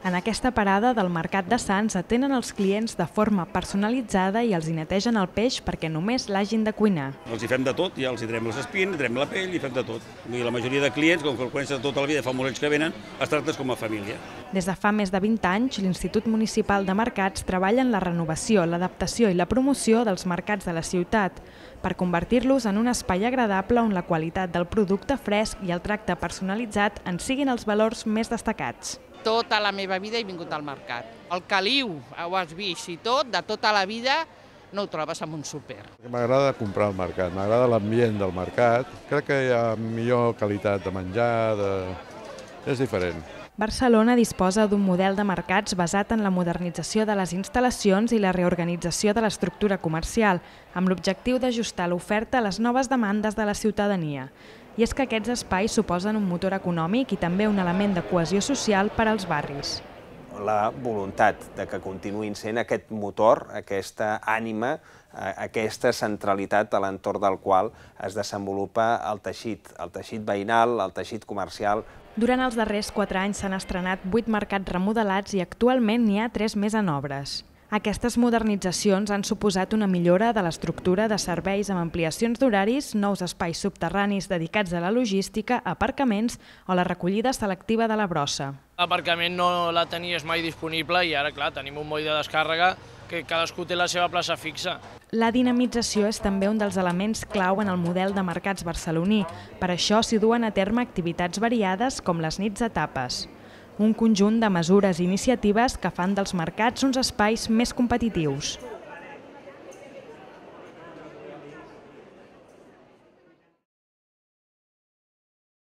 En aquesta parada del Mercat de Sants atenen els clients de forma personalitzada i els hi netegen el peix perquè només l'hagin de cuinar. Els hi fem de tot, ja els hi trem les espines, hi trem la pell i fem de tot. I la majoria de clients, com que el coneixen tota la vida, fa molts anys que venen, es tracten com a família. Des de fa més de 20 anys, l'Institut Municipal de Mercats treballa en la renovació, l'adaptació i la promoció dels mercats de la ciutat per convertir-los en un espai agradable on la qualitat del producte fresc i el tracte personalitzat en siguin els valors més destacats. Tota la meva vida he vingut al mercat. El caliu, ho has vist, i tot, de tota la vida no ho trobes en un súper. M'agrada comprar al mercat, m'agrada l'ambient del mercat. Crec que hi ha millor qualitat de menjar, és diferent. Barcelona disposa d'un model de mercats basat en la modernització de les instal·lacions i la reorganització de l'estructura comercial, amb l'objectiu d'ajustar l'oferta a les noves demandes de la ciutadania. I és que aquests espais suposen un motor econòmic i també un element de cohesió social per als barris. La voluntat de que continuïn sent aquest motor, aquesta ànima, aquesta centralitat a l'entorn del qual es desenvolupa el teixit veïnal, el teixit comercial. Durant els darrers 4 anys s'han estrenat 8 mercats remodelats i actualment n'hi ha 3 més en obres. Aquestes modernitzacions han suposat una millora de l'estructura de serveis amb ampliacions d'horaris, nous espais subterranis dedicats a la logística, aparcaments o la recollida selectiva de la brossa. L'aparcament no la tenies mai disponible i ara, clar, tenim un moll de descàrrega que cadascú té la seva plaça fixa. La dinamització és també un dels elements clau en el model de mercats barceloní. Per això s'hi duen a terme activitats variades com les nits de tapes. Un conjunt de mesures i iniciatives que fan dels mercats uns espais més competitius.